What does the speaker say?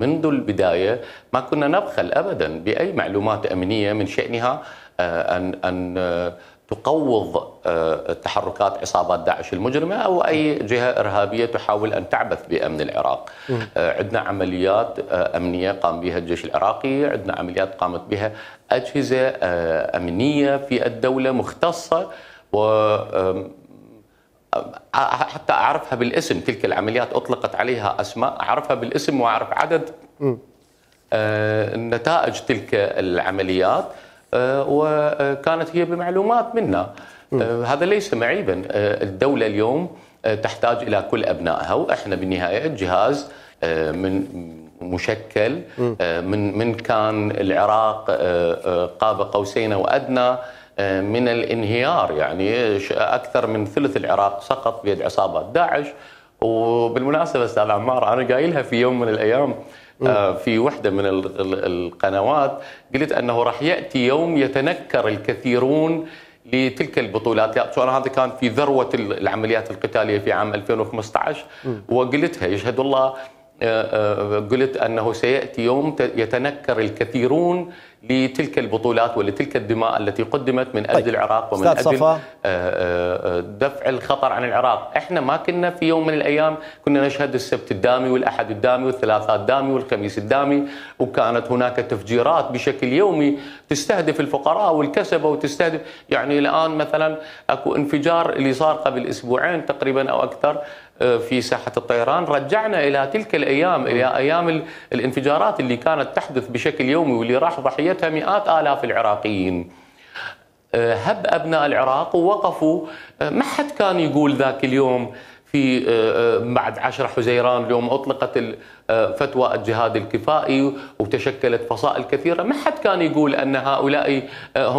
منذ البداية ما كنا نبخل أبدا بأي معلومات أمنية من شأنها أن تقوض تحركات عصابات داعش المجرمة أو أي جهة إرهابية تحاول أن تعبث بأمن العراق. عندنا عمليات أمنية قام بها الجيش العراقي، عندنا عمليات قامت بها أجهزة أمنية في الدولة مختصة، و حتى أعرفها بالاسم. تلك العمليات أطلقت عليها أسماء أعرفها بالاسم وأعرف عدد نتائج تلك العمليات، وكانت هي بمعلومات منا. هذا ليس معيبا. الدولة اليوم تحتاج إلى كل أبنائها، وإحنا بالنهاية جهاز من مشكل من كان العراق قاب قوسين وأدنى من الانهيار. يعني أكثر من ثلث العراق سقط بيد عصابات داعش. وبالمناسبة أستاذ عمار، أنا قايلها في يوم من الأيام في وحدة من القنوات، قلت أنه راح يأتي يوم يتنكر الكثيرون لتلك البطولات. هذا كان في ذروة العمليات القتالية في عام 2015، وقلتها يشهد الله. قلت أنه سيأتي يوم يتنكر الكثيرون لتلك البطولات ولتلك الدماء التي قدمت من أجل العراق ومن أجل دفع الخطر عن العراق. احنا ما كنا في يوم من الأيام كنا نشهد السبت الدامي والأحد الدامي والثلاثاء الدامي والخميس الدامي، وكانت هناك تفجيرات بشكل يومي تستهدف الفقراء والكسبة وتستهدف. يعني الآن مثلا أكو انفجار اللي صار قبل أسبوعين تقريبا أو أكثر في ساحة الطيران، رجعنا إلى تلك الأيام، إلى أيام الانفجارات اللي كانت تحدث بشكل يومي واللي راح ضحيتها مئات آلاف العراقيين. هب أبناء العراق ووقفوا. ما حد كان يقول ذاك اليوم في بعد 10 حزيران اليوم أطلقت فتوى الجهاد الكفائي وتشكلت فصائل كثيرة، ما حد كان يقول أن هؤلاء هم